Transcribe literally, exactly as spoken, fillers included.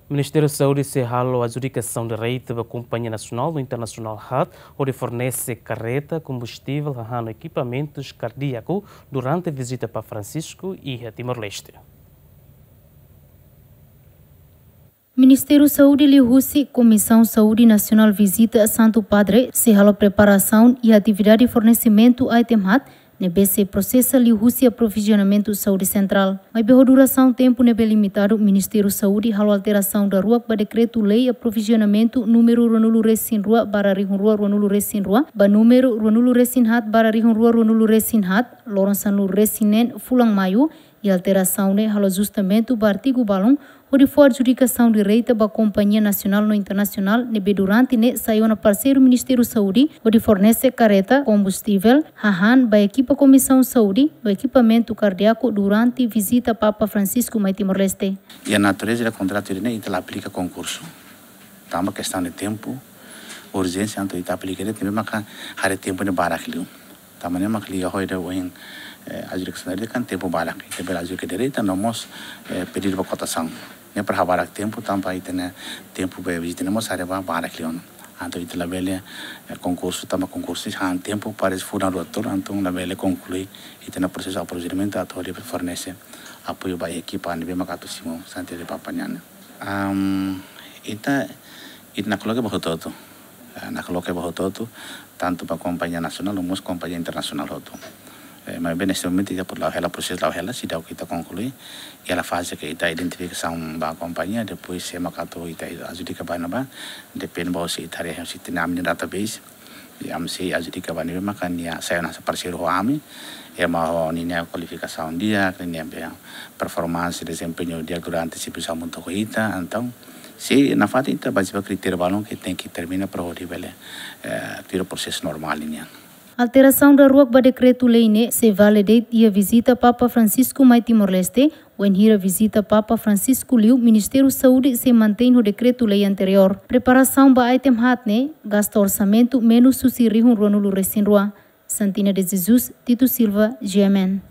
Ministériu Saúde sei halo adjudikasaun direta ba kompañia nasionál no internasionál haat, hodi fornese karreta, kombustivel, hahán no ekipamentus kardíaku durante vizita Papa Francisco iha Timor-Leste. Ministériu Saúde liuhusi Komisaun Saúde Nasionál vizita Santu Padre sei halo preparasaun iha atividade fornesimentu item haat ne'ebé sei prosesa liuhusi aprovizionamentu saúde sentrál. Maibé ho durasaun tempu ne'ebé limitadu, Ministériu Saúde halo alterasaun daruak ba dekretu-lei aprovizionamentu númeru ruanulu-resin-rua barra rihun rua ruanulu-resin-rua, ba númeru ruanulu-resin-haat barra rihun rua ruanulu-resin-haat, loron sanulu-resin-neen fulan Maiu, i alterasaun ne'e halo ajustamentu ba artigu balun, hodi fó adjudikasaun direta ba kompañia nasionál no internasionál ne'ebé durante ne'e sai ona parseiru Ministériu Saúde, hodi fornese karreta, kombustivel, hahán ba ekipa Komisaun Saúde no ekipamentu kardíaku durante vizita Papa Francisco mai Timor-Leste. I a natureza do kontratu ne'e, ita la aplika konkursu. Tanba kestaun de tempu, urjénsia, entaun ita aplika de'it, ne'ebé maka haree tempu ne'e barak liu. Tanba ne'e mak liga ho ida ohin, eh, adjudikasaun direta kan tempu barak. Ita bele adjudika direta, no mós, eh, pedidu ba kotasaun. Ne'e para habarak tempu, tanba ita-nia tempu ba vizita ne'e mós haree ba barak liu ona. Entaun ita labele, eh, konkursu, tanba konkursu han tempu para fulan rua tolu, entaun labele konklui ita-nia prosesu aprovizionamentu atu hodi fornese apoiu ba ekipa ne'ebé maka atu simu Santu Padre Papa nian. Am, ita, ita nakloke ba hotu-hotu. Eh, nakloke ba hotu-hotu, tantu ba kompañia nasionál, no mós kompañia internasionál hotu. Eh, maibé neste momentu ita por la'o hela, prosesu la'o hela, seidauk ita konklui, iha faze ke ita identifikasaun ba kompañia, depois sé mak atu ita adjudika ba ne'ebá, depende ba se ita haree, se ita-nia ami-nia database, i ami sei adjudika ba ne'ebé maka nia sai ona parseiru ho ami, ema ho ninia kualifikasaun di'ak, ninia be performance, dezempeñu di'ak durante servisu hamutuk ho ita, entaun, sei nafatin ita bazeia ba kritériu balun ke tenke termina para hodi bele, eh, tuir prosesu normál nian. Alterasaun daruak ba dekretu-lei ne'e sei vale de'it iha vizita Papa Francisco mai Timor-Leste, wainhira vizita Papa Francisco liu, Ministériu Saúde sei mantein ho dekretu-lei anteriór. Preparasaun ba item haat ne'e gasta orsamentu menus husi rihun ruanulu-resin-rua. Santina de Jesus, Tito Silva, G M N.